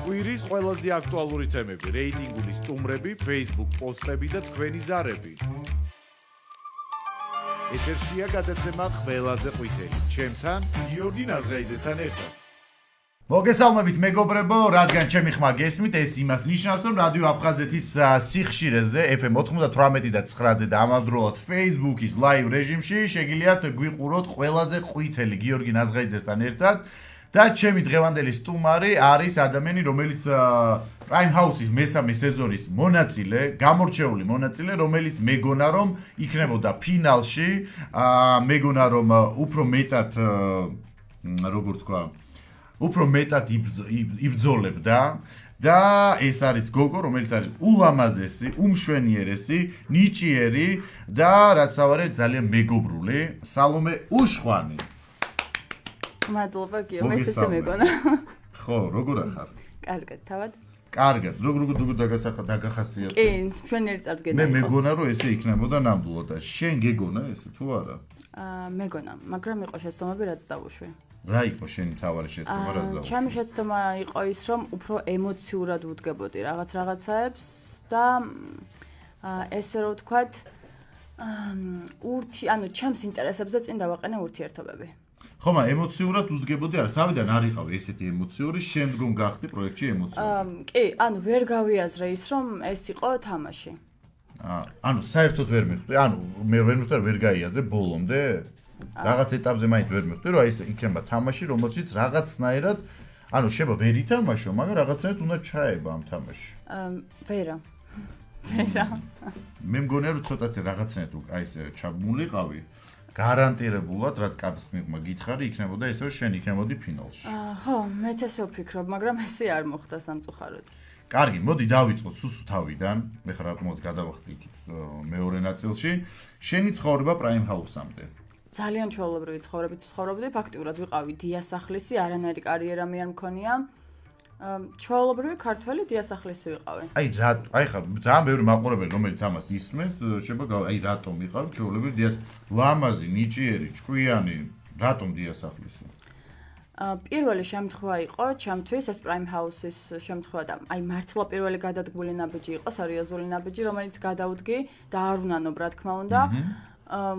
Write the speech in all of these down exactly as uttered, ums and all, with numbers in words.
კვირის ყველაზე აქტუალური თემები, რეიტინგული სტუმრები, Facebook პოსტები და თქვენი ზარები. ეთერშია გადაცემა ყველაზე ყვითელი. ჩემთან გიორგი ნაზრაიძესთან ერთად. მოგესალმებით მეგობრებო, რადგან ჩემი ხმა გესმით, ეს იმას ნიშნავს, რომ რადიო აფხაზეთის სიხშირეზე ეფ ემ ოცდაოთხმეტი და ცხრაზე და ამავდროულად Facebook-ის live რეჟიმში შეგიძლიათ გვიყუროთ ყველაზე ყვითელი გიორგი ნაზრაიძესთან ერთად. და ჩემი დღევანდელი სტუმარი არის ადამიანი, რომელიც Prime House-ის მესამე სეზონის მონაწილე, გამორჩეული მონაწილე, რომელიც მეგონა რომ იქნებოდა ფინალში, მეგონა რომ უფრო მეტად როგორ თქვა, უფრო მეტად იბრძოლებდა და ეს არის გოგო, რომელიც არის ულამაზესი, უმშვენიერესი, ნიჭიერი და რაც თავარი ძალიან მეგობრული, სალომე უშხვანი. მადლობა გიო, მე ესე მეგონა. ხო, როგორ ახარ? კარგად, თავად? კარგად, როგორ როგორ დაგახასიათე? კი, მშვენიერი წარდგენა. მე მეგონა რომ ესე იქნებოდა ნამდვილად და შენ გეგონა ესე თუ არა? აა, მეგონა, მაგრამ იყო შეცდომები რაც დავუშვი. რა იყო შენი თავარი შეცდომა რაც დავუშვი? ჩემი შეცდომა იყო ის რომ უფრო ემოციურად ვუდგებოდი რაღაც რაღაცაებს და ესე რომ ვთქვათ, ურთი, ანუ ჩემს ინტერესებზე წინ დავაყენე ურთიერთობები. ხო, მაგრამ ემოციურად უძგებოდი არა, თავიდან არ იყავი ესეთი ემოციური, შემდგომ გახდი პროექტში ემოციური. კი, ანუ ვერ გავიაზრე ის, რომ ეს იყო თამაში. აა, ანუ საერთოდ ვერ მიხვდი, ანუ მე ვერ მიხვდი, ვერ გაიაზრე ბოლომდე. რაღაც ეტაპზე მაინც ვერ მიხვდი, რომ აი ეს იქნება თამაში, რომელშიც რაღაცნაირად, ანუ შეიძლება ვერ ითამაშო, მაგრამ რაღაცნაირად უნდა ჩაება ამ თამაში. აა, ვერა. ვერა. მე მგონია რომ ცოტათი რაღაცნაირად აი ეს ჩაბმულიყავი. გარანტირებულად, რაც კადრს მიღმა გითხარი, იქნებოდა ეს, რომ შენ იქნებოდი ფინალში. აა, ხო, მეც ესე ვფიქრობ, მაგრამ ესე არ მოხდა სამწუხაროდ. კარგი, მოდი დავიწყოთ სუსუ თავიდან. მე ხარ რატომაც გადავახდი იქით მეორე ნაწილში. შენი ცხოვრება Prime House-ამდე. ძალიან ჩვეულებრივი ცხოვრებით ვცხოვრობდი, ფაქტიურად ვიყავი დიასახლისი, არანაირი კარიერა მე არ მქონია. ჩვეულებრივი ქართველი დიასახლისი ვიყავი. აი რა, აი ხა ძალიან ბევრი მაყურებელი, რომელიც ამას ისმენს, შეიძლება აი რატომ ვიყავი ჩვეულებრივი დიას ლამაზი, ნიჭიერი, ჭკვიანი, რატომ დიასახლისი? აა პირველი შემთხვევა იყო ჩემთვის ეს Prime House-ის შემთხვევა და აი მართლა პირველი გადადგმული ნაბიჯი იყო, სერიოზული ნაბიჯი, რომელიც გადავდგი და არ უნანო, რა თქმა უნდა. აა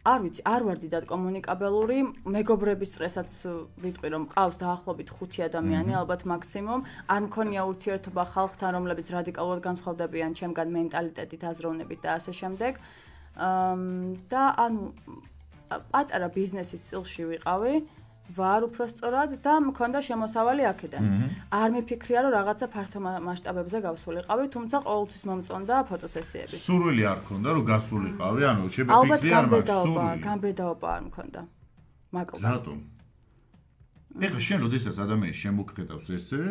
არ ვიცი, არ ვარ დიდად კომუნიკაბელური, მეგობრების წრესაც ვიტყვი რომ ყავს დაახლოებით ხუთი ადამიანი, ალბათ მაქსიმუმ, არ მქონია ურთიერთობა ხალხთან, რომლებიც რადიკალურად განსხვავდებიან ჩემგან მენტალიტეტით, აზროვნებით და ასე შემდეგ. და ანუ პატარა ბიზნესის წილში ვიყავი, ვარ უпростоრად და მქონდა შემოსავალი აქედან. არ მიფიქრია რომ რაღაცა ფართო მასშტაბებზე გავსულიყავი, თუმცა ყოველთვის მომწონდა ფოტოსესიები. სურვილი არ მქონდა რომ გასულიყავი, ანუ შეიძლება ფიქრი არ მაქვს სურვილი. გამბედაობა არ მქონდა. მაკლდა. რატომ? ეხლა შენ როდესაც ადამიანს შემოგხედავს ესე,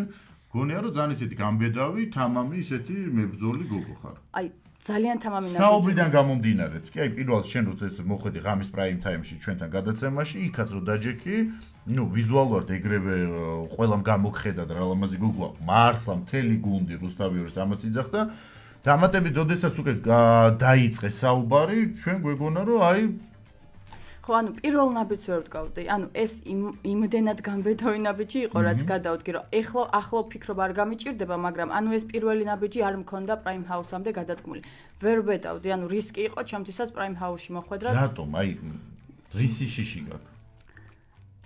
გონია რომ ძალიან ისეთი გამბედავი, თამამი, ისეთი მებრძოლი გოგო ხარ. აი ძალიან თამამი ნაბიჯი. საუბრიდან გამომდინარეც კი, აი პირველად შენ როდესაც მოხვედი ღამის prime time-ში ჩვენთან გადაცემაში, იქაც რო დაჯექი, ნუ ვიზუალურად ეგრევე ყველამ გამოგხედა და რა ლამაზი გოგოა, მართლა მთელი გუნდი რუსთავიორის ამას იძახდა. დამატებით, როდესაც უკვე დაიწყე საუბარი, ჩვენ გვეგონა რომ აი ხო, ანუ პირველ ნაბიჯს ვერ ვდგავდი. ანუ ეს იმდენად გამბედავი ნაბიჯი იყო, რაც გადავდგი, რომ ეხლა ახლა ვფიქრობ არ გამიჭირდება, მაგრამ ანუ ეს პირველი ნაბიჯი არ მქონდა Prime House-ამდე გადადგმული. ვერ ვბედავდი, ანუ რისკი იყო ჩემთვისაც Prime House-ში მოხვედრა. რატომ? აი რისი შიში გაქვს?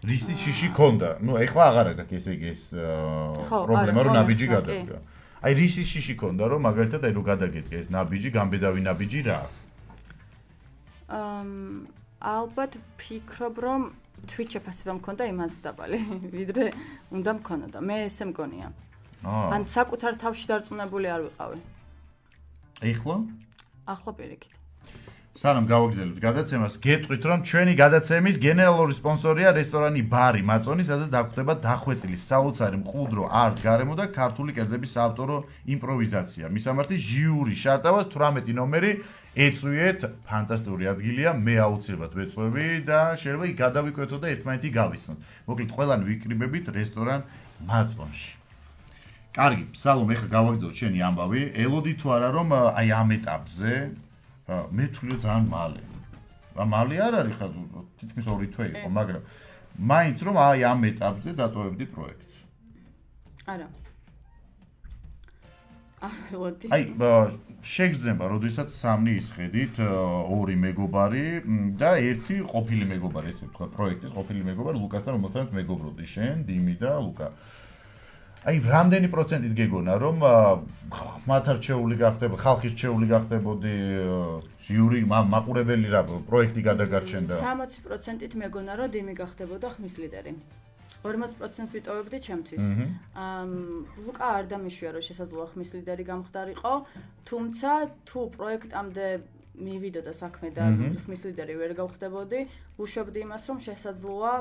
რისი შიში ქონდა? ნუ ეხლა აღარა გაქვს ესე იგი ეს პრობლემა, რომ ნაბიჯი გადადგა. აი რისი შიში ქონდა, რომ მაგალითად აი რო გადაგედგე ეს ნაბიჯი, გამბედავი ნაბიჯი რა? აა ალბათ ვფიქრობ, რომ Twitch შეფასება მქონდა იმას დაბალი, ვიდრე უნდა მქონოდა. მე ესე მგონია. ან საკუთარ თავში დარწმუნებული არ ვიყავი. ეხლა? ახლა პირიქით. სანამ გავაგრძელებთ გადაცემას, გეტყვით, რომ ჩვენი გადაცემის გენერალური სპონსორია რესტორანი ბარი მაწონი, სადაც დაგვხდება დახვეწილი საოცარი მყუდრო არტ გარემო და ქართული კერძების საავტორო იმპროვიზაცია. მისამართი ჟიური შარტავას თვრამეტი ნომერი ეწვიეთ, ფანტასტიკური ადგილია, მე აუცილებლად ვეწვევი და შეიძლება იქ გადავიკვეთოთ და ერთმანეთი გავიცნოთ. მოკლედ, ყველანი ვიკრიბებით რესტორან მაწონში. კარგი, სალომე, ეხლა გავაგრძელოთ შენი ამბავი. ელოდი თუ არა რომ აი ამ ეტაპზე მე თვლი ძალიან მალე. მალე არ არის ხა თითქმის ორი თვე იყო, მაგრამ მაინც რომ აი ამ ეტაპზე დატოვებდი პროექტს. არა. აველოდი. აი, შეგრძნება, როდესაც სამი ისხედით, ორი მეგობარი და ერთი ყოფილი მეგობარი, ესე ვთქვა, პროექტის ყოფილი მეგობარი ლუკასთან, რომელთანაც მეგობრობდი შენ, დიმი და ლუკა. აი, რამდენი პროცენტით გეგონა, რომ მათ არჩეული გახდებოდი, ხალხის რჩეული გახდებოდი, ჟიური მაყურებელი რა პროექტი გადაგარჩენდა? სამოცი პროცენტით მეგონა, რომ დიმი გახდებოდა ხმის ლიდერი. ორმოცი პროცენტს ვიტოვებდი ჩემთვის. აა ლუკა არ დამიშვია, რომ შესაძლოა ხმის ლიდერი გამხდარიყო, თუმცა თუ პროექტამდე მივიდოდა საქმე და ხმის ლიდერი ვერ გავხდებოდი, ვუშვებდი იმას, რომ შესაძლოა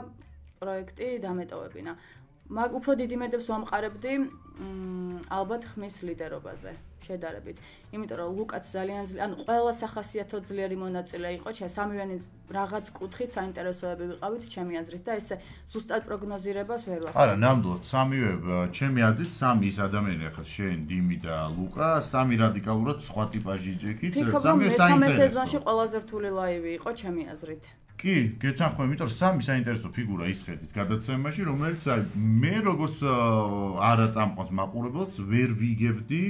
პროექტი დამეტოვებინა. მაგ უფრო დიდი მედებს ვამყარებდი ალბათ ხმის ლიდერობაზე შედარებით. იმიტომ რომ ლუკაც ძალიან ძლიერი, ანუ ყველა სახასიათო ძლიერი მონაწილე იყო, სამივენი რაღაც კუთხით საინტერესოები ვიყავით ჩემი აზრით და ესე ზუსტად პროგნოზირებას ვერ ვახდით. არა, ნამდვილად სამივე ჩემი აზრით სამი ის ადამიანი ახლა შენ, დიმი და ლუკა, სამი რადიკალურად სხვა ტიპაჟი ჯექით, სამივე საინტერესო. სეზონში ყველაზე რთული ლაივი იყო ჩემი აზრით. კი, გეთანხმები, იმიტომ რომ სამი საინტერესო ფიგურა ისხედით გადაცემაში, რომელიც მე როგორც არა წამყვანს მაყურებელს ვერ ვიგებდი.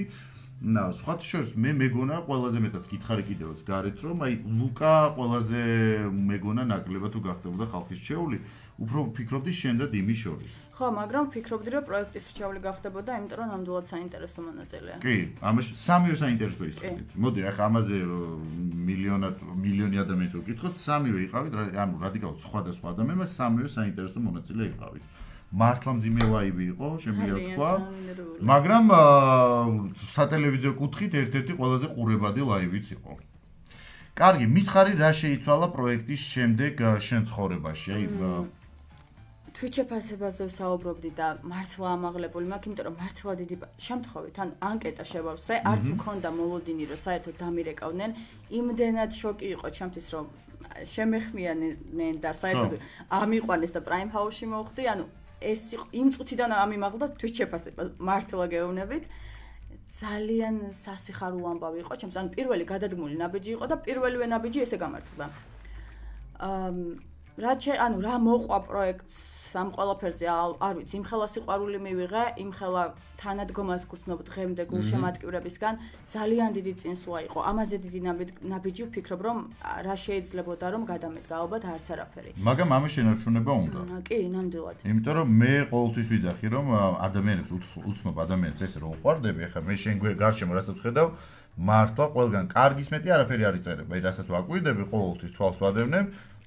და სხვათა შორის მე მეგონა ყველაზე მეტად გითხარი კიდევაც გარეთ რომ აი ლუკა ყველაზე მეგონა ნაკლებად თუ გახდებოდა ხალხის რჩეული, უფრო ვფიქრობდი შენ და დიმის შორის. ხო, მაგრამ ვფიქრობდი რომ პროექტის რჩეული გახდებოდა, იმიტომ რომ ნამდვილად საინტერესო მონაწილეა. კი, ამაში სამივე საინტერესო ისხედით. მოდი, ახლა ამაზე მილიონად მილიონი ადამიანს ვკითხოთ, სამივე იყავით, ანუ რადიკალურად სხვადასხვა ადამიანმა სამივე საინტერესო მონაწილე იყავით. მართლა მძიმე ლაივი იყო, შემიძლია თქვა, მაგრამ სატელევიზიო კუთხით ერთ-ერთი ყველაზე ყურებადი ლაივიც იყო. კარგი, მითხარი რა შეიცვალა პროექტის შემდეგ შენ ცხოვრებაში? აი Twitch ფასებაზე ვსაუბრობდი და მართლა ამაღლებული მაქვს, იმიტომ რომ მართლა დიდი შემთხვევით, ანუ ანკეტა შევავსე, არც მქონდა მოლოდინი, რომ საერთოდ დამირეკავდნენ, იმდენად შოკი იყო ჩემთვის, რომ შემეხმიანნენ და საერთოდ ამიყვანეს და Prime House-ში მოვხდი, ანუ ეს იმ წუთიდან ამიმაღლა Twitch ფასება, მართლა გეუბნებით. ძალიან სასიხარულო ამბავი იყო ჩემს, ანუ პირველი გადადგმული ნაბიჯი იყო და პირველივე ნაბიჯი ესე გამართლდა. აა რა შე, ანუ რა მოყვა პროექტს ამ ყველაფერზე არ ვიცი, იმხელა სიყვარული მივიღე, იმხელა თანადგომას გრძნობ დღემდე გულშემატკივრებისგან, ძალიან დიდი წინსვლა იყო. ამაზე დიდი ნაბიჯი ვფიქრობ, რომ რა შეიძლებოდა რომ გადამედგა, ალბათ არც არაფერი. მაგრამ ამის შენარჩუნება უნდა. კი, ნამდვილად. იმიტომ რომ მე ყოველთვის ვიძახი, რომ ადამიანებს უცნობ ადამიანებს ესე რომ უყვარდები, ახლა მე შენ გარშემო რასაც ვხედავ, მართლა ყველგან კარგის მეტი არაფერი არ იწერება. აი რასაც ვაკვირდები, ყოველთვის თვალს ვადევნებ.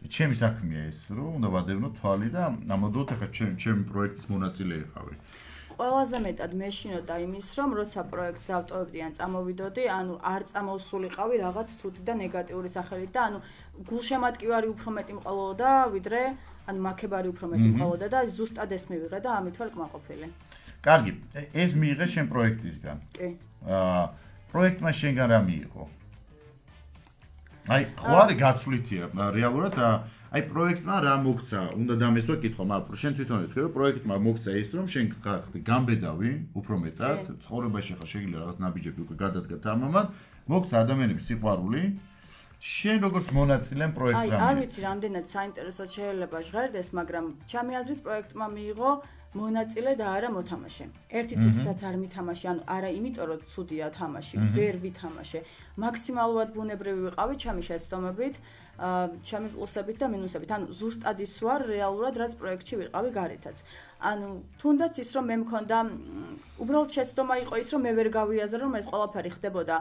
ჩემი საქმეა ეს, რომ უნდა ვადევნო თვალი და ამოდოთ ახლა ჩემი პროექტის მონაწილე იყავი. ყველაზე მეტად მეშინოდა იმის, რომ როცა პროექტს ავტოვებდი ან წამოვიდოდი, ანუ არ წამოვსულიყავი რაღაც ცუდი და ნეგატიური სახელით და ანუ გულშემატკივარი უფრო მეტი მყოლოდა, ვიდრე ან მაქებარი უფრო მეტი მყოლოდა და ზუსტად ეს მივიღე და ამით ვარ კმაყოფილი. კარგი, ეს მიიღე შენ პროექტისგან. კი. აა პროექტმა შენგან რა მიიღო? აი, ხო არის გაცვლითია, რეალურად აი პროექტმა რა მოგცა? უნდა დამესვა კითხვა, მაგრამ შენ თვითონ ვთქვი, რომ პროექტმა მოგცა ის, რომ შენ ხარ გამბედავი, უფრო მეტად, ცხოვრებაში ხარ შეიძლება რაღაც ნაბიჯები უკვე გადადგა თამამად, მოგცა ადამიანების სიყვარული. შენ როგორც მონაწილე პროექტს რა? აი, არ ვიცი, რამდენად საინტერესოდ შეიძლება ჟღერდეს, მაგრამ ჩემი აზრით პროექტმა მიიღო მონაწილე და არა მოთამაშე. ერთი წუთითაც არ მითამაშე, ანუ არა იმიტომ რომ ცუდია თამაში, ვერ ვითამაშე. მაქსიმალურად ბუნებრივი ვიყავი ჩემი შეცდომებით, ჩემი პლუსებით და მინუსებით. ანუ ზუსტად ის ვარ რეალურად, რაც პროექტში ვიყავი გარეთაც. ანუ თუნდაც ის რომ მე მქონდა უბრალოდ შეცდომა იყო ის რომ მე ვერ გავიაზრო რომ ეს ყველაფერი ხდებოდა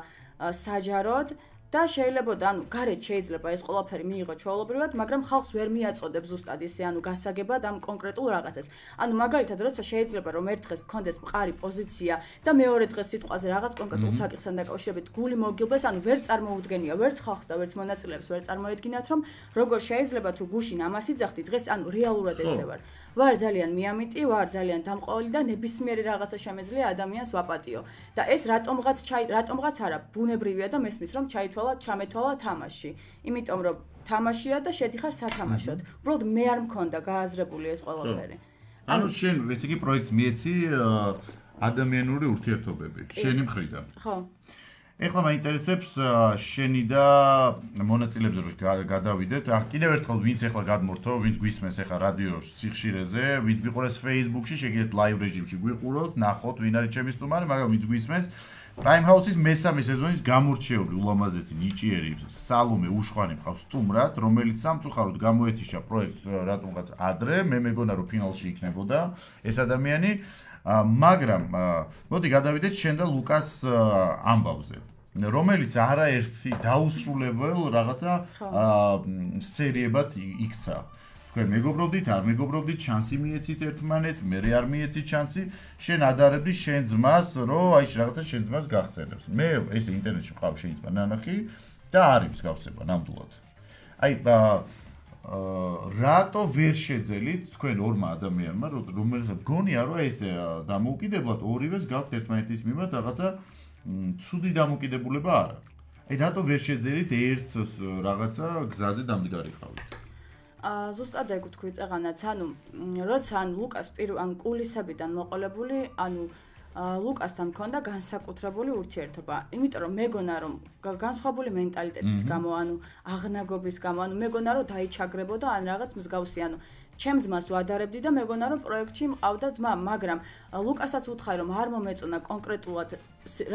საჯაროდ და შეიძლება, ანუ გარეთ შეიძლება ეს ყველაფერი მიიღო ჩვეულებრივად, მაგრამ ხალხს ვერ მიაწოდებს ზუსტად ისე, ანუ გასაგებად ამ კონკრეტულ რაღაცას. ანუ მაგალითად, როცა შეიძლება რომ ერთ დღეს გქონდეს მყარი პოზიცია და მეორე დღეს სიტყვაზე რაღაც კონკრეტულ საკითხთან დაკავშირებით გული მოგილბეს, ანუ ვერ წარმოუდგენია ვერც ხალხს და ვერც მონაწილეებს ვერ წარმოედგინათ, რომ როგორ შეიძლება თუ გუშინ ამას იძახდი, დღეს ანუ რეალურად ესე ვარ. ვარ ძალიან მიამიტი, ვარ ძალიან დამყოლი და ნებისმიერი რაღაცა შემეძლია ადამიანს ვაპატიო. და ეს რატომღაც ჩაი რატომღაც არა, ბუნებრივია და მესმის რომ ჩაითვალა, ჩამეთვალა თამაში. იმიტომ რომ თამაშია და შედიხარ სათამაშოდ. უბრალოდ მე არ მქონდა გააზრებული ეს ყველაფერი. ანუ შენ ვიცი კი პროექტს მიეცი ადამიანური ურთიერთობები, შენი მხრიდან. ხო. ეხლა მაინტერესებს შენი და მონაწილეებზე რომ გადავიდეთ. კიდევ ერთხელ ვინც ეხლა გადმორთო, ვინც გვისმენს ეხლა რადიოს სიხშირეზე, ვინც გვიყურებს Facebook-ში, შეგიძლიათ live რეჟიმში გვიყუროთ, ნახოთ ვინ არის ჩემი სტუმარი, მაგრამ ვინც გვისმენს, Prime House-ის მესამე სეზონის გამორჩეული ულამაზესი ნიჭიერი სალომე უშვანი მყავს სტუმრად, რომელიც სამწუხაროდ გამოეთიშა პროექტს რატომღაც ადრე, მე მეგონა რომ ფინალში იქნებოდა ეს ადამიანი, მაგრამ მოდი გადავიდეთ შენ და ლუკას ამბავზე, რომელიც არაერთი დაუსრულებელ რაღაცა სერიებად იქცა. თქვენ მეგობრობდით, არ მეგობრობდით, შანსი მიეცით ერთმანეთს, მე არ მიეცით შანსი, შენ ადარებდი შენ ძმას, რომ აი რაღაცა შენ ძმას გახსენებს. მე ესე ინტერნეტში მყავს შენი ძმა ნანახი და არის მსგავსება ნამდვილად. აი რატო ვერ შეძელით თქვენ ორმა ადამიანმა, რომელსაც გონია რომ ესე დამოუკიდებლად ორივეს გაქვთ ერთმანეთის მიმართ რაღაცა ცუდი დამოკიდებულება არა. აი რატო ვერ შეძელით ერთ რაღაცა გზაზე დამდგარიყავით? ზუსტად ეგ ვთქვი წეღანაც, ანუ როცა ან ლუკას პირ ან კულისებიდან მოყოლებული, ანუ ლუკასთან მქონდა განსაკუთრებული ურთიერთობა. იმიტომ რომ მეგონა რომ განსხვავებული მენტალიტეტის გამო, ანუ აღნაგობის გამო, ანუ მეგონა რომ დაიჩაგრებოდა ან რაღაც მსგავსი, ანუ ჩემ ძმას ვადარებდი და მეგონა რომ პროექტში მყავდა ძმა, მაგრამ ლუკასაც ვუთხარი რომ არ მომეწონა კონკრეტულად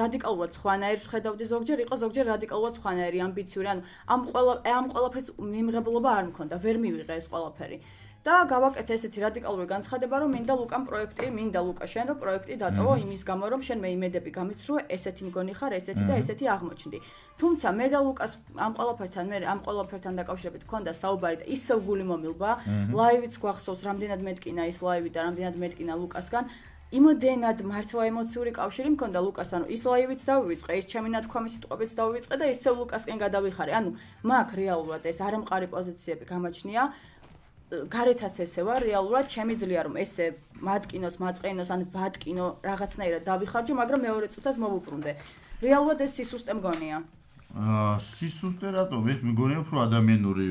რადიკალურად სხვანაირს ხედავდი ზოგჯერ იყო ზოგჯერ რადიკალურად სხვანაირი ამბიციური, ანუ ამ ყველა ამ ყველაფრის მიმღებლობა არ მქონდა, ვერ მივიღე ეს ყველაფერი. და გავაკეთე ესეთი რადიკალური განცხადება, რომ მინდა ლუკამ პროექტი, მინდა ლუკა შენ რომ პროექტი დატოვო იმის გამო, რომ შენ მე იმედები გამიცრუე, ესეთი მგონი ხარ, ესეთი და ესეთი აღმოჩნდი. თუმცა მე და ლუკას ამ ყველაფერთან მე ამ ყველაფერთან დაკავშირებით მქონდა საუბარი და ისევ გული მომილვა, ლაივიც გვახსოვს, რამდენად მეტკინა ის ლაივი და რამდენად მეტკინა ლუკასგან. იმოდენად მართლა ემოციური კავშირი მქონდა ლუკასთან, ის ლაივიც დავივიწყე, ის ჩემი ნათქვამი სიტყვებიც დავივიწყე და ისევ ლუკასკენ გადავიხარე. ანუ მაგ რეალურად ეს არამყარი პოზიციები გამაჩნია. გარეთაც ესევა, რეალურად ჩემი ძლია რომ ესე მატკინოს, მაწყენოს ან ვატკინო რაღაცნაირად დავიხარჯო, მაგრამ მეორე წუთას მოვუბრუნდე. რეალურად ეს სისუსტე მგონია. აა სისუსტე რატო? ეს მგონია უფრო ადამიანური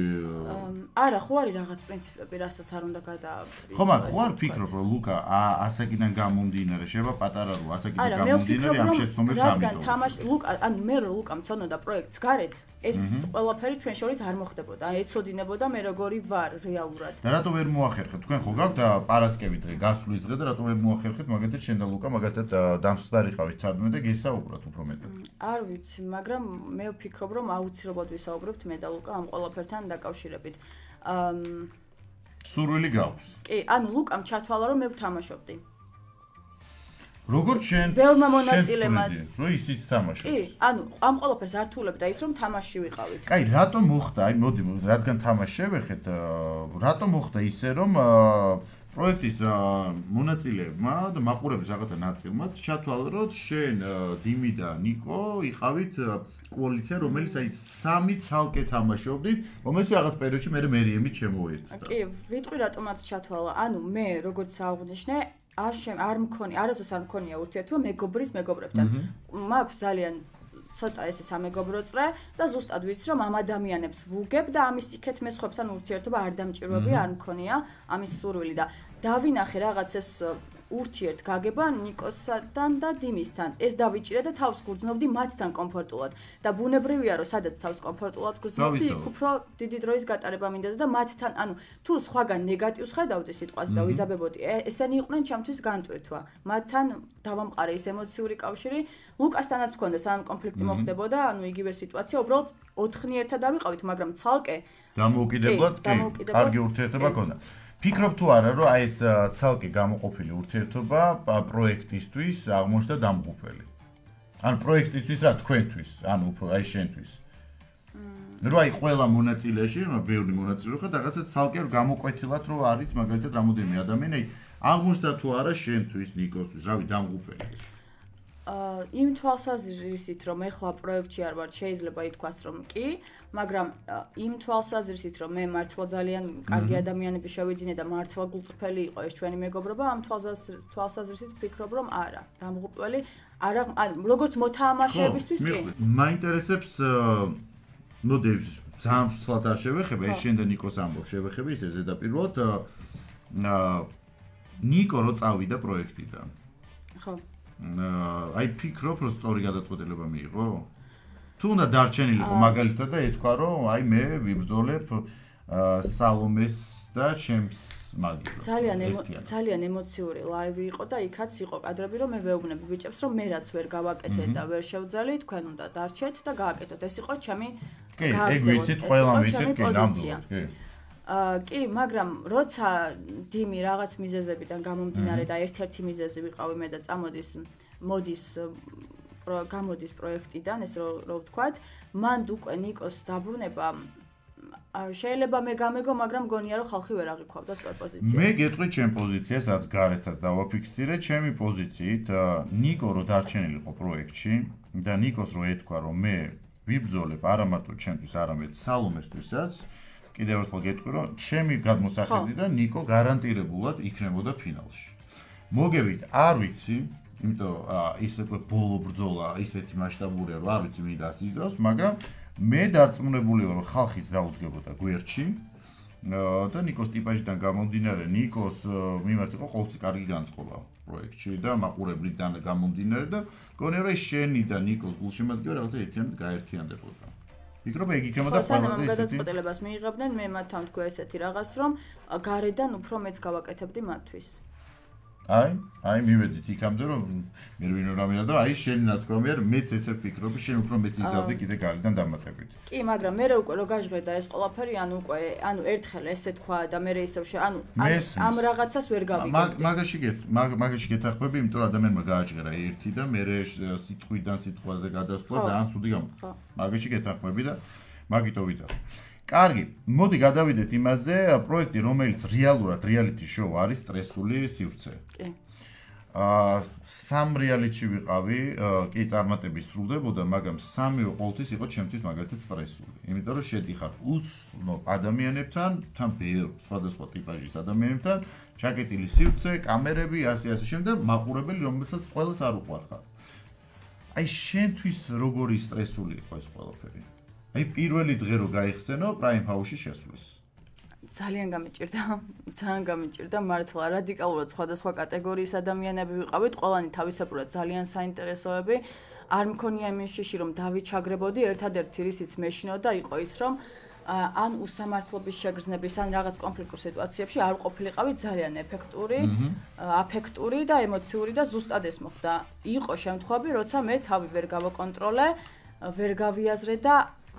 არა, ხო არის რაღაც პრინციპები, რასაც არ უნდა გადააბრი. ხო, მაგრამ ხო არ ფიქრობ რომ ლუკა ასაკიდან გამომდინარე, შევა პატარა რო ასაკიდან გამომდინარე ამ შეცდომებს ამიტომ. რადგან თამაში ლუკა, ანუ მე რო ლუკა მწონოდა პროექტს გარეთ, ეს ყველაფერი ჩვენ შორის არ მოხდებოდა. ეცოდინებოდა მე როგორი ვარ რეალურად. და რატო ვერ მოახერხეთ? თქვენ ხო გაქვთ პარასკევი დღე, გასვლის დღე და რატო ვერ მოახერხეთ მაგათაც შენ და ლუკა მაგათაც დამსხდარიყავით სადმე და გესაუბროთ უფრო მეტად? არ ვიცი, მაგრამ მე ვფიქრობ რომ აუცილებლად ვისაუბრებთ მე და ლუკა ამ ყველაფერთან დაკავშირებით. აა სურვილი გაქვს. კი, ანუ ლუკამ ჩათვალა რომ მე ვთამაშობდი. როგორც შენ ბევრმა მონაწილემაც რო ისიც თამაშობს. კი, ანუ ამ ყველაფერს არ თულებდა ის რომ თამაში ვიყავით. კაი, რატო მოხდა? აი მოდი, რადგან თამაში შევეხეთ, რატო მოხდა ისე რომ პროექტის მონაწილეებმა და მაყურებლის რაღაცა ნაწილმაც ჩათვალა რომ შენ დიმი და ნიკო იყავით კოალიცია, რომელიც აი სამი ცალკე თამაშობდით, რომელიც რაღაც პერიოდში მე მერიემით შემოერთდა. კი, ვიტყვი რატომაც ჩათვალა. ანუ მე როგორც აღნიშნე არ არ მქონი, არასდროს არ მქონია ურთიერთობა მეგობრის მეგობრებთან. მაქვს ძალიან ცოტა ესე სამეგობრო წრე და ზუსტად ვიცი რომ ამ ადამიანებს ვუგებ და ამის იქეთ მე სხვებთან ურთიერთობა არ დამჭირვები, არ მქონია ამის სურვილი და დავინახე რაღაც ეს ურთიერთ გაგება ნიკოსთან და დიმისთან. ეს დავიჭირე და თავს გრძნობდი მათთან კომფორტულად და ბუნებრივია რომ სადაც თავს კომფორტულად გრძნობდი, იქ უფრო დიდი დროის გატარება მინდოდა და მათთან, ანუ თუ სხვაგან ნეგატივს ხედავდი სიტყვას და ვიძაბებოდი, ესენი იყვნენ ჩემთვის განტვირთვა. მათთან დავამყარე ის ემოციური კავშირი, ლუკასთანაც მქონდა სამ კონფლიქტი მოხდებოდა, ანუ იგივე სიტუაცია, უბრალოდ ოთხნი ერთად არ ვიყავით, მაგრამ ცალკე დამოუკიდებლად კი, კარგი ურთიერთობა ჰქონდა. ფიქრობ თუ არა რომ აი ეს ცალკე გამოყოფილი ურთიერთობა პროექტისთვის აღმოჩნდა დამღუპველი. ან პროექტისთვის რა თქვენთვის, ანუ უფრო აი შენთვის. რო აი ყველა მონაწილეში, რა ბევრი მონაწილე ხარ, რაღაცა ცალკე გამოკვეთილად რო არის მაგალითად რამოდენიმე ადამიანი, აი აღმოჩნდა თუ არა შენთვის, ნიკოსთვის, რავი, დამღუპველი. აა იმ თვალსაზრისით რომ ეხლა პროექტში არ ვარ, შეიძლება ითქვას რომ კი, მაგრამ იმ თვალსაზრისით რომ მე მართლა ძალიან კარგი ადამიანები შევიძინე და მართლა გულწრფელი იყო ეს ჩვენი მეგობრობა, ამ თვალსაზრისით ვფიქრობ რომ არა, დამღუპველი არა, ანუ როგორც მოთამაშეებისთვის კი. მაინტერესებს მოდი ძალიან ცუდად არ შევეხება, ეს შენ და ნიკოს ამბობს შევეხება ისე ზედაპირულად ნიკო რო წავიდა პროექტიდან. ხო. აი ფიქრობ რომ სწორი გადაწყვეტილება მიიღო? თუ უნდა დარჩენილიყო მაგალითად და ეთქვა რომ აი მე ვიბრძოლებ სალომეს და ჩემს მაგივრად. ძალიან ძალიან ემოციური ლაივი იყო და იქაც იყო კადრები, რომ მე ვეუბნები ბიჭებს, რომ მე რაც ვერ გავაკეთე და ვერ შევძალი, თქვენ უნდა დარჩეთ და გააკეთოთ. ეს იყო ჩემი კი, ეგ ვიცით, ყველა ვიცით, კი, ნამდვილად, კი. აა კი, მაგრამ როცა დიმი რაღაც მიზეზებიდან გამომდინარე და ერთ-ერთი მიზეზი ვიყავი მე და წამოდის მოდის გამოდის პროექტიდან, ეს რო ვთქვათ, მან უკვე ნიკოს დაბრუნება შეიძლება მე გამეგო, მაგრამ გონია რომ ხალხი ვერ აღიქვავდა სწორ პოზიციას. მე გეტყვი ჩემ პოზიციას, რაც გარეთაც დავაფიქსირე, ჩემი პოზიციით, ნიკო რო დარჩენილიყო პროექტში და ნიკოს რო ეთქვა, რომ მე ვიბრძოლებ არა მარტო ჩემთვის, არამედ სალომესთვისაც, კიდევ ერთხელ გეტყვი, რომ ჩემი გადმოსახედიდან ნიკო გარანტირებულად იქნებოდა ფინალში. მოგევით, არ ვიცი, იმიტომ ის უკვე ბოლო ბრძოლა ისეთი მასშტაბურია, რომ არ ვიცი მინდა იზრავს, მაგრამ მე დარწმუნებული ვარ, რომ ხალხიც დაუდგებოდა გვერდში და ნიკოს ტიპაჟიდან გამომდინარე, ნიკოს მიმართ იყო ყოველთვის კარგი განწყობა პროექტში და მაყურებლიდან გამომდინარე და გონია რომ შენი და ნიკოს გულშემატკივარი რაღაცა ერთიანად გაერთიანდებოდა. ვფიქრობ, ეგ იქნებოდა ყველაზე ისეთი გადაწყვეტილებას მიიღებდნენ, მე მათთან თქვა ესეთი რაღაც, რომ გარედან უფრო მეც გავაკეთებდი მათთვის. აი, აი მივედით იქამდე რომ მე ვინ რამეა და აი შენი ნათქვამია რომ მეც ესე ვფიქრობი, შენ უფრო მეც იზავდი კიდე გარედან დამატებით. კი, მაგრამ მე უკვე რო გაჟღერდა ეს ყველაფერი, ანუ უკვე, ანუ ერთხელ ესე თქვა და მე ისევ შე, ანუ ამ რაღაცას ვერ გავიგებდი. მაგაში გეთ, მაგაში გეთახმები, იმიტომ რომ ადამიანმა გააჭღერა ერთი და მე სიტყვიდან სიტყვაზე გადასვლა ძალიან ცუდი გამოდგა. მაგაში გეთახმები და მაგითო ვიტყვი. კარგი, მოდი გადავიდეთ იმაზე, პროექტი, რომელიც რეალურად reality show არის სტრესული სივრცე. კი. აა სამ რეალიტში ვიყავი, კი წარმატების სრულდებოდა, მაგრამ სამივე ყოველთვის იყო ჩემთვის მაგალითად სტრესული. იმიტომ რომ შედიხარ უცნობ ადამიანებთან, თან ბევრ სხვადასხვა ტიპაჟის ადამიანებთან, ჩაკეტილი სივრცე, კამერები, ასე ასე შემდეგ, მაყურებელი, რომელსაც ყველას არ უყვარხარ. აი შენთვის როგორი სტრესული იყო ეს ყველაფერი? აი პირველი დღე რო გაიხსენო Prime House-ში შესვლის. ძალიან გამიჭირდა, ძალიან გამიჭირდა მართლა რადიკალურად სხვადასხვა კატეგორიის ადამიანები ვიყავით, ყველანი თავისებურად ძალიან საინტერესოები. არ მქონია იმის შიში რომ დავიჩაგრებოდი, ერთადერთი რისიც მეშინოდა იყო ის რომ ან უსამართლობის შეგრძნების ან რაღაც კონფლიქტურ სიტუაციებში არ ყოფილიყავი ძალიან ეფექტური, აფექტური და ემოციური და ზუსტად ეს მოხდა. იყო შემთხვევები, როცა მე თავი ვერ გავაკონტროლე, ვერ გავიაზრე და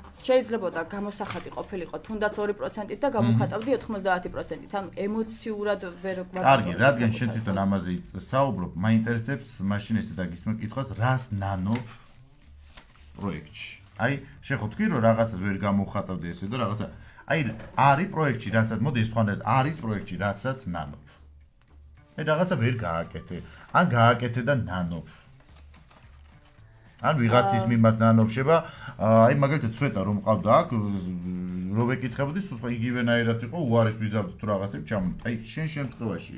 შეიძლებოდა გამოსახატი ყოფილიყო თუნდაც ორი პროცენტით და გამოვხატავდი ოთხმოცდაათი პროცენტით. ანუ ემოციურად ვერ ვარ. კარგი, რადგან შენ თვითონ ამაზე საუბრობ, მაინტერესებს მაშინ ესე დაგისმენ კითხვას, რას ნანობ პროექტში. აი, შენ ხო თქვი რომ რაღაცას ვერ გამოვხატავდი ესე და რაღაცა. აი, არის პროექტში, რასაც მოდი სხვანაირად არის პროექტში, რასაც ნანობ. აი, რაღაცა ვერ გააკეთე. ან გააკეთე და ნანობ. ან ვიღაცის მიმართ ნანობშება, აი მაგალითად ცვეტა რომ ყავდა აქ, რო ვეკითხებოდი, სულ იგივენაირად იყო, უარეს ვიზავდით თუ რაღაცები ჩამოვიდა. აი შენ შემთხვევაში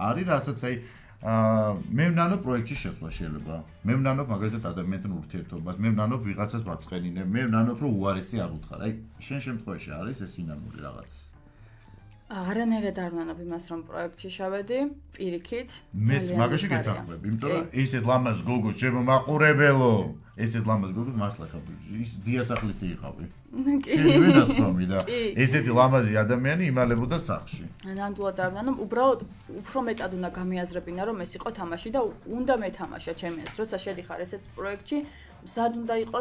არის რასაც აი მე ვნანობ პროექტში შესვლა შეიძლება. მე ვნანობ მაგალითად ადამიანთან ურთიერთობას, მე ვნანობ ვიღაცას ვაწყენინე, მე ვნანობ რომ უარესი არ უთხარ. აი შენ შემთხვევაში არის ეს სინამდვილე რაღაც. არანაირად არ ვნანობ იმას რომ პროექტში შევედი, პირიქით. მეც მაგაში გეთახმები, იმიტომ რომ ესეთ ლამაზ გოგოს ჩემო მაყურებელო, ესეთ ლამაზ გოგოს მართლა ხავი, ის დიასახლისი იყავი. შენ ვინაცნობი და ესეთი ლამაზი ადამიანი იმალებოდა სახლში. ნამდვილად არ ვნანობ, უბრალოდ უფრო მეტად უნდა გამიაზრებინა რომ ეს იყო თამაში და უნდა მეთამაშა ჩემი აზრით, როცა შედიხარ ესეთ პროექტში. სად უნდა იყო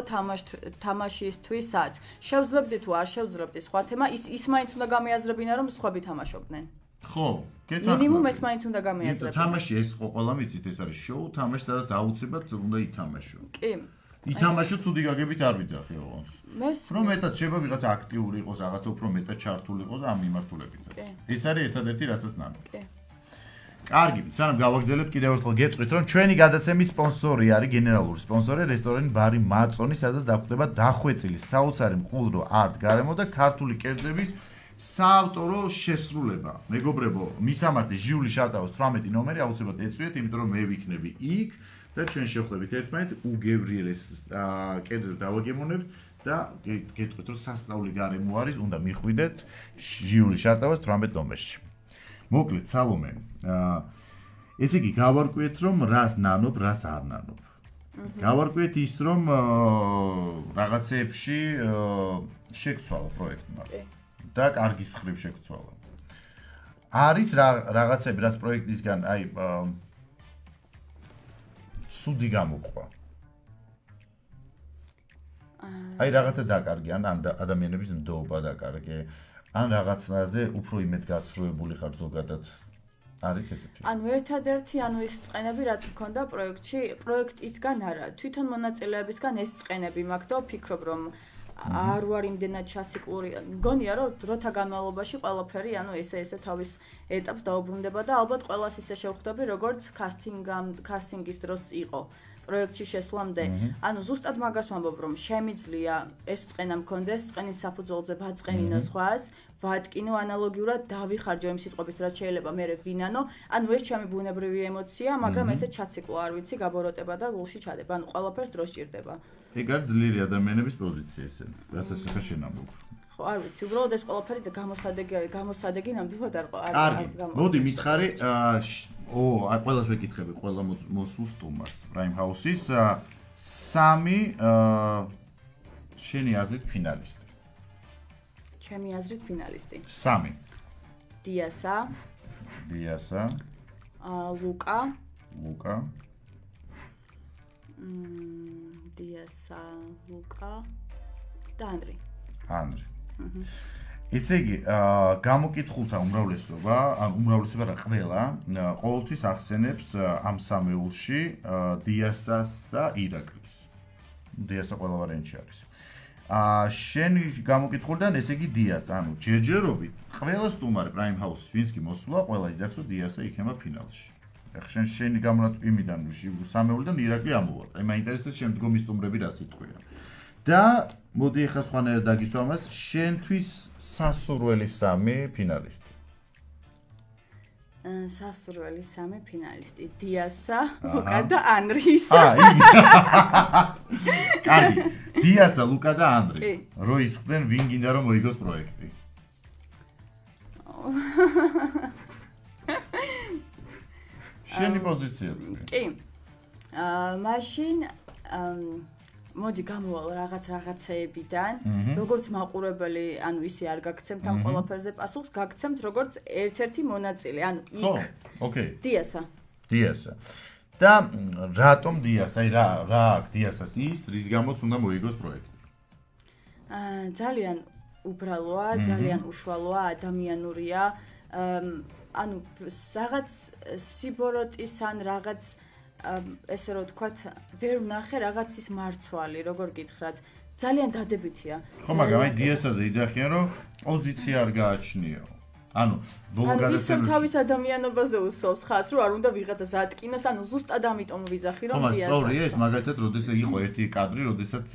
თამაშისთვისაც. შევძლებდი თუ არ შევძლებდი სხვა თემა, ის ის მაინც უნდა გამიაზრებინა რომ სხვები თამაშობდნენ. ხო, გეთახმები. მინიმუმ ეს მაინც უნდა გამიაზრებინა. თამაში ეს ხო ყველა მიცით ეს არის შოუ, თამაში სადაც აუცილებლად უნდა ითამაშო. კი. ითამაშო ცუდი გაგებით არ ვიძახი ოღონდ. მეს რომ მეტად შეიძლება ვიღაცა აქტიური იყოს, რაღაცა უფრო მეტად ჩართული იყოს და ამ მიმართულებით. ეს არის ერთადერთი რასაც ნანობ. კი. კარგი, სანამ გავაგრძელებთ კიდევ ერთხელ გეტყვით, რომ ჩვენი გადაცემის სპონსორი არის გენერალური სპონსორი რესტორანი ბარი მაწონი, სადაც დახვდება დახვეწილი საოცარი მყუდრო არტ გარემო და ქართული კერძების საავტორო შესრულება. მეგობრებო, მისამართი ჟიული შარტაოს თვრამეტი ნომერი აუცილებლად ეწვიეთ, იმიტომ რომ მე ვიქნები იქ და ჩვენ შევხვდებით ერთმანეთს უგებრიელეს კერძებს დავაგემოვნებთ და გეტყვით, რომ სასწაული გარემო არის, უნდა მიხვიდეთ ჟიული შარტაოს თვრამეტ ნომერში. მოკლედ სალომე, ესე იგი გავარკვიეთ რომ რას ნანობ, რას არ ნანობ. გავარკვიეთ ის რომ რაღაცეებში შეგცვალა პროექტმა და კარგის მხრივ შეგცვალა. არის რაღაცები, რაც პროექტისგან, აი, სუდი გამოყვა. აი, რაღაცა დაკარგი, ან ადამიანების ნდობა დაკარგი, ან რაღაცნაირად უფრო იმედ გაცრუებული ხარ ზოგადად. არის ესეთი. ანუ ერთადერთი ანუ ის წყენები რაც მქონდა პროექტში, პროექტისგან არა, თვითონ მონაწილეებისგან ეს წყენები მაქვს და ვფიქრობ რომ არ ვარ იმდენად ჩაციკლური. მგონია რომ დროთა განმავლობაში ყველაფერი ანუ ესე ესე თავის ეტაპს დაუბრუნდება და ალბათ ყველას ისე შევხვდები როგორც კასტინგამ კასტინგის დროს იყო. პროექტში შესვლამდე, ანუ ზუსტად მაგას ვამბობ, რომ შემიძლია ეს წყენა მქონდეს, წყენის საფუძველზე ვაწყენინო სხვას, ვატკინო ანალოგიურად დავიხარჯო იმ სიტყვებით, რაც შეიძლება მე ვინანო, ანუ ეს ჩემი ბუნებრივი ემოცია, მაგრამ ესე ჩაციკლო არ ვიცი, გაბოროტება და გულში ჩადება, ანუ ყველაფერს დრო სჭირდება. ეგ არის ძლიერი ადამიანების პოზიცია ესე, რასაც ახლა შენ ამბობ. ხო, არ ვიცი, უბრალოდ ეს ყველაფერი გამოსადეგი, გამოსადეგი ნამდვილად არ ყო. კარგი, მოდი მითხარი, ო, აი ყველას ვეკითხები, ყველა მოსულ სტუმარს Prime House-ის სამი შენი აზრით ფინალისტი. ჩემი აზრით ფინალისტი. სამი. დიასა. დიასა. აა ლუკა. ლუკა. მმ დიასა, ლუკა და ანდრი. ანდრი. აჰა. ესე იგი, გამოკითხულთა უმრავლესობა, ან უმრავლესობა რა ყველა, ყოველთვის ახსენებს ამ სამეულში დიასას და ირაკლის. დიასა ყველა ვარიანტში არის. აა შენი გამოკითხულიდან ესე იგი დიას, ანუ ჯერჯერობით ყველა სტუმარი Prime House-ის ვინც კი მოსულა, ყველა იძახს რომ დიასა იქნება ფინალში. ახლა შენ შენი გამონათქვამიდან სამეულიდან ირაკლი ამოვარ. აი მაინტერესებს შემდგომი სტუმრები რა სიტყვია. და მოდი ახლა სხვანაირად დაგიცვა მას, შენთვის სასურველი სამი ფინალისტი. სასურველი სამი ფინალისტი. დიასა, ლუკა და ანდრი. აა, იგი. კარგი. დიასა, ლუკა და ანდრი. რო ისხდნენ ვინ გინდა რომ მოიგოს პროექტი. შენი პოზიცია. კი. აა, მაშინ მოდი გამოვალ რაღაც რაღაცეებიდან, როგორც მაყურებელი, ანუ ისე არ გაგცემთ ამ ყველაფერზე პასუხს, გაგცემთ როგორც ერთ-ერთი მონაწილე, ანუ იქ. ხო, ოკეი. დიასა. დიასა. და რატომ დიასა? აი რა რა აქვს დიასას ის, რის გამოც უნდა მოიგოს პროექტი? აა ძალიან უბრალოა, ძალიან უშუალოა, ადამიანურია. ანუ რაღაც სიბოროტის ან რაღაც ესე რომ ვთქვათ, ვერ ვნახე რაღაცის მარცვალი, როგორ გითხრათ, ძალიან დადებითია. ხო, მაგრამ აი დიასაზე იძახიან, რომ პოზიცია არ გააჩნიო. ანუ ბოლო გადაცემაში ისევ თავის ადამიანობაზე უსვავს ხას, რომ არ უნდა ვიღაცას ატკინოს, ანუ ზუსტად ამიტომ ვიძახი, რომ დიასა. ხო, სწორია ეს, მაგალითად, როდესაც იყო ერთი კადრი, როდესაც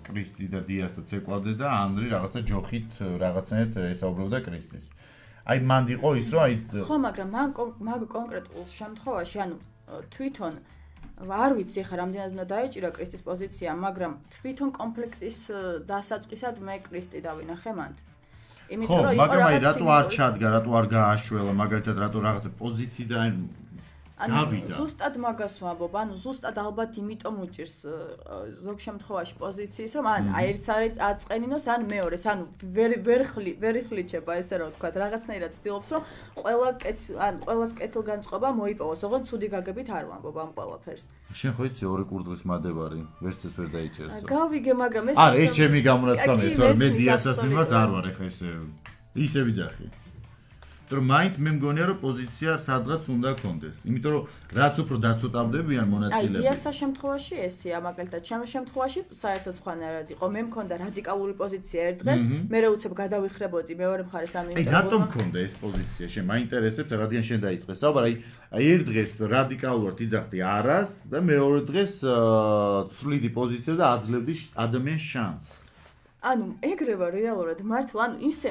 კრისტი და დიასა ცეკვავდნენ და ანდრი რაღაცა ჯოხით რაღაცნაირად ესაუბრებდა კრისტის. აი მანდ იყო ის, რომ აი ხო, მაგრამ მაგ კონკრეტულ შემთხვევაში, ანუ თვითონ არ ვიცი ხა რამდენად უნდა დაეჭირა კრისტის პოზიცია, მაგრამ თვითონ კონფლიქტის დასაწყისად მე კრისტი დავინახე მანდ. იმიტომ რომ იყო მაგრამ აი რატო არ ჩადგა, რატო არ გააშველა, მაგალითად რატო რაღაცა პოზიციიდან გავიდა. ზუსტად მაგას ვამბობ, ანუ ზუსტად ალბათ იმიტომ უჭირს ზოგ შემთხვევაში პოზიციის, რომ ან აი ერთს არის აწყენინოს, ან მეორეს, ანუ ვერ ვერ ხლი, ვერ იხლიჩება ესე რომ ვთქვა, რაღაცნაირად ცდილობს, რომ ყველა ან ყველას კეთილგანწყობა მოიპოვოს, ოღონდ ცუდი გაგებით არ ვამბობ ამ ყველაფერს. შენ ხო იცი ორი კურდღლის მადებარი, ვერც ეს ვერ დაიჭერს. გავიგე, მაგრამ ეს არა, ეს ჩემი გამონათქვამია, თორე მე დიასას მიმართ არ ვარ ეხა ესე ისე ვიძახი. რომ მაინც მე მგონია რომ პოზიცია სადღაც უნდა გქონდეს. იმიტომ რომ რაც უფრო დაცოტავდებიან მონაწილეები. აი დიასას შემთხვევაში ესეა, მაგალითად, ჩემ შემთხვევაში საერთოდ სხვანაირად იყო. მე მქონდა რადიკალური პოზიცია ერთ დღეს, მე უცებ გადავიხრებოდი მეორე მხარეს, ანუ აი რატომ მქონდა ეს პოზიცია? შენ მაინტერესებს, რადგან შენ დაიწყე საუბარი, აი აი ერთ დღეს რადიკალურად იძახდი არას და მეორე დღეს ცვლიდი პოზიცია და აძლევდი ადამიანს შანსს. ანუ ეგრევა რეალურად მართლა, ანუ ისე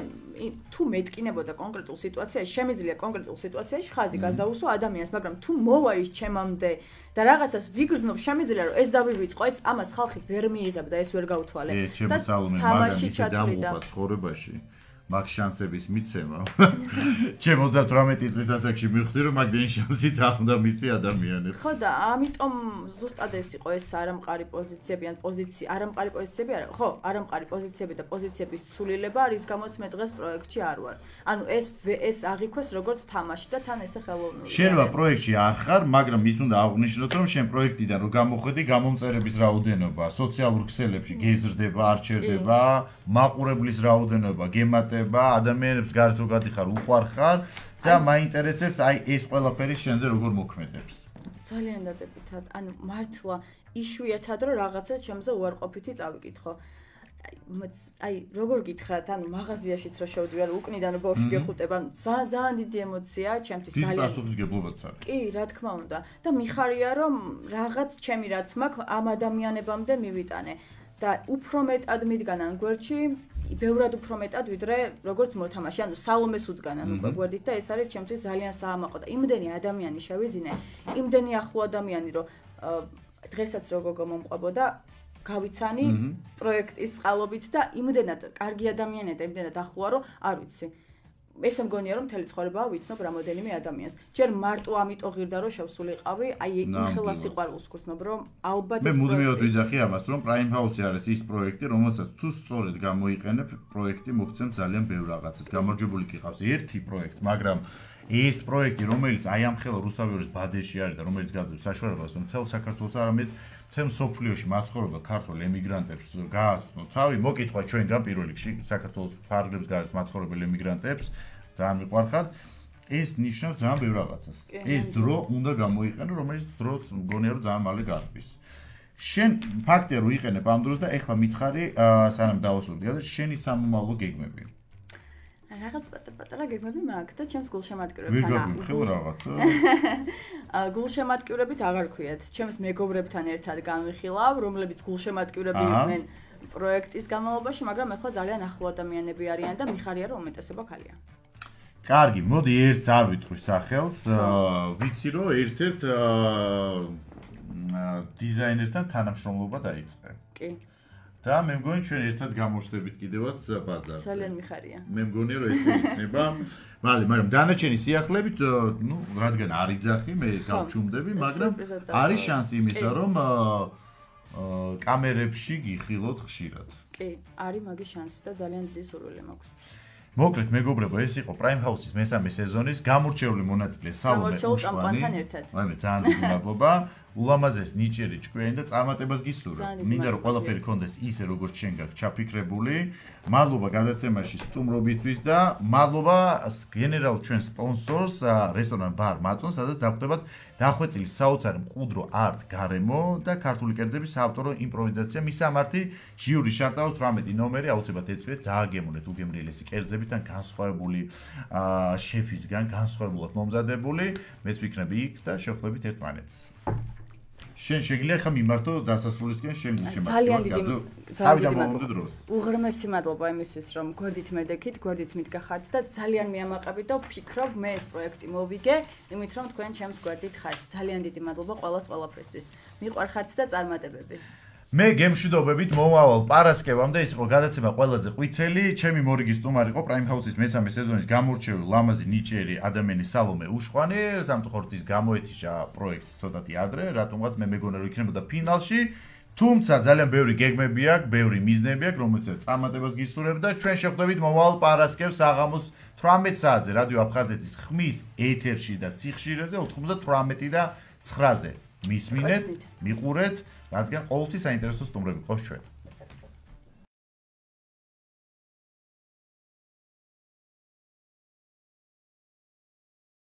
თუ მეტკინებოდა კონკრეტულ სიტუაციაში, შემიძლია კონკრეტულ სიტუაციაში ხაზი გადაუსვა ადამიანს, მაგრამ თუ მოვა ის ჩემამდე და რაღაცას ვიგრძნობ, შემიძლია რომ ეს დავივიწყო, ეს ამას ხალხი ვერ მიიღებდა, ეს ვერ გაუთვალე. და თამაში ჩათვლიდა ცხოვრებაში. მაგ შანსების მიცემა. ჩემ ოცდათვრამეტი წლის ასაკში მივხვდი რომ მაგ შანსიც არ უნდა მისცი ადამიანებს. ხო და ამიტომ ზუსტად ეს იყო ეს არამყარი პოზიციები ან პოზიცია, არამყარი პოზიციები არა, ხო, არამყარი პოზიციები და პოზიციების სულილება, რის გამოც მე დღეს პროექტში არ ვარ. ანუ ეს ეს აღიქვეს როგორც თამაში და თან ესე ხელოვნური. შენობა პროექტში არ ხარ, მაგრამ ის უნდა აღვნიშნოთ რომ შენ პროექტიდან რომ გამოხედი გამომწერების რაოდენობა, სოციალურ ქსელებში გეზრდება, არჩევდება, მაყურებლის რაოდენობა, გემატება, ადამიანებს გარეთ რო გადიხარ, უყვარხარ და მაინტერესებს აი ეს ყველაფერი შენზე როგორ მოქმედებს. ძალიან დადებითად, ანუ მართლა იშვიათად რომ რაღაცა ჩემზე უარყოფითი წავიკითხო. აი როგორ გითხრათ, ანუ მაღაზიაშიც რო შევდივარ, უკნიდან რო ბავშვი გეხუტება, ძალიან ძალიან დიდი ემოციაა ჩემთვის ძალიან. დიდი პასუხისმგებლობაც არის. კი, რა თქმა უნდა. და მიხარია რომ რაღაც ჩემი რაც მაქვს ამ ადამიანებამდე მივიტანე და უფრო მეტად მიდგან ან გვერდში, ბევრად უფრო მეტად ვიდრე როგორც მოთამაშე, ანუ სალომეს უდგანან უკვე გვერდით და ეს არის ჩემთვის ძალიან საამაყო და იმდენი ადამიანი შევიძინე, იმდენი ახლო ადამიანი რომ დღესაც როგორ მომყვებოდა გავიცანი პროექტის წყალობით და იმდენად კარგი ადამიანია და იმდენად ახლოა რომ არ ვიცი. ესე მგონია რომ მთელი ცხოვრებაა ვიცნობ რამოდენიმე ადამიანს. ჯერ მარტო ამიტომ ღირდა რომ შევსულიყავი, აი იმხელა სიყვარულს გრძნობ რომ ალბათ მე მუდმივად ვიძახი ამას რომ Prime House-ი არის ის პროექტი, რომელსაც თუ სწორედ გამოიყენებ, პროექტი მოგცემს ძალიან ბევრ რაღაცას. გამარჯვებული კი ყავს ერთი პროექტი, მაგრამ ეს პროექტი, რომელიც აი ამ ხელა რუსთავიორის ბადეში არის და რომელიც გადადის საშუალებას, რომ მთელ საქართველოს არამედ თემ სოფლიოში მაცხოვრებელ ქართულ ემიგრანტებს გააცნო თავი, მოკითხვა ჩვენგან პირველ რიგში საქართველოს ფარგლებს გარეთ მაცხოვრებელ ემიგრანტებს ძალიან მიყვარხართ. ეს ნიშნავს ძალიან ბევრ რაღაცას. ეს დრო უნდა გამოიყენო, რომელიც დროც მგონია რომ ძალიან მალე გარბის. შენ ფაქტია რომ იყენებ ამ დროს და ეხლა მითხარი, სანამ დავასრულე, შენი სამომავლო გეგმები. რაღაც პატარა გეგმები მაქვს და ჩემს გულშემატკივრებთან ვიგებ რაღაცა. გულშემატკივრებით აღარ ქვიათ. ჩემს მეგობრებთან ერთად განვიხილავ, რომლებიც გულშემატკივრები იყვნენ პროექტის განმავლობაში, მაგრამ ეხლა ძალიან ახლო ადამიანები არიან და მიხარია რომ უმეტესობა ქალია. კარგი, მოდი ერთს არ ვიტყვი სახელს. ვიცი რომ ერთ-ერთ დიზაინერთან თანამშრომლობა დაიწყე. კი. და მე მგონი ჩვენ ერთად გამოვშდებით კიდევაც ბაზარზე. ძალიან მიხარია. მე მგონია რომ ეს იქნება. მალე, მაგრამ დანარჩენი სიახლებით, ნუ რადგან არ იძახი, მე გავჩუმდები, მაგრამ არის შანსი იმისა, რომ კამერებში გიხილოთ ხშირად. კი, არის მაგის შანსი და ძალიან დიდი სურვილი მაქვს. მოკლედ მეგობრებო, ეს იყო Prime House-ის მესამე სეზონის გამორჩეული მონაწილე სალომე უშვანი. აი ძალიან დიდი მადლობა. ულამაზეს ნიჭიერი ჭკვიანი და წარმატებას გისურვებ. მინდა რომ ყველაფერი კონდეს ისე როგორც შენ გაქვს ჩაფიქრებული. მადლობა გადაცემაში სტუმრობისთვის და მადლობა გენერალ ჩვენ სპონსორს რესტორან ბარ მატონ, სადაც დახვდებათ დახვეწილი საოცარი მყუდრო არტ გარემო და ქართული კერძების საავტორო იმპროვიზაცია. მისამართი ჟიური შარტაოს თვრამეტი ნომერი აუცილებლად ეწვიეთ, დააგემონეთ უგემრიელესი კერძებიდან განსხვავებული შეფისგან განსხვავებულად მომზადებული. მეც ვიქნები იქ და შევხვდებით ერთმანეთს. შენ შეგიძლია ხა მიმართო დასასრულისკენ შენ შემართო. ძალიან დიდი ძალიან დიდი მადლობა. უღრმესი მადლობა იმისთვის რომ გვერდით მედექით, გვერდით მიდგახართ და ძალიან მიამაყებით და ვფიქრობ მე ეს პროექტი მოვიგე, იმით რომ თქვენ ჩემს გვერდით ხართ. ძალიან დიდი მადლობა ყველას ყველაფრისთვის. მიყვარხართ და წარმატებები. მე გემშვიდობებით მომავალ პარასკევამდე ის იყო გადაცემა ყველაზე ყვითელი. ჩემი მორიგი სტუმარი იყო Prime House-ის მესამე სეზონის გამორჩეული ლამაზი ნიჭიერი ადამიანი სალომე უშხვანი. სამწუხაროდ ის გამოეთიშა პროექტს ცოტათი ადრე, რატომღაც მე მეგონა რომ იქნებოდა ფინალში. თუმცა ძალიან ბევრი გეგმები აქვს, ბევრი მიზნები აქვს, რომელსაც წარმატებას გისურვებ და ჩვენ შევხვდებით მომავალ პარასკევს საღამოს თვრამეტ საათზე რადიო აფხაზეთის ხმის ეთერში და სიხშირეზე ოთხმოცდათვრამეტი და ცხრაზე. მისმინეთ, მიყურეთ, რადგან ყოველთვის საინტერესო სტუმრები ყავს ჩვენ.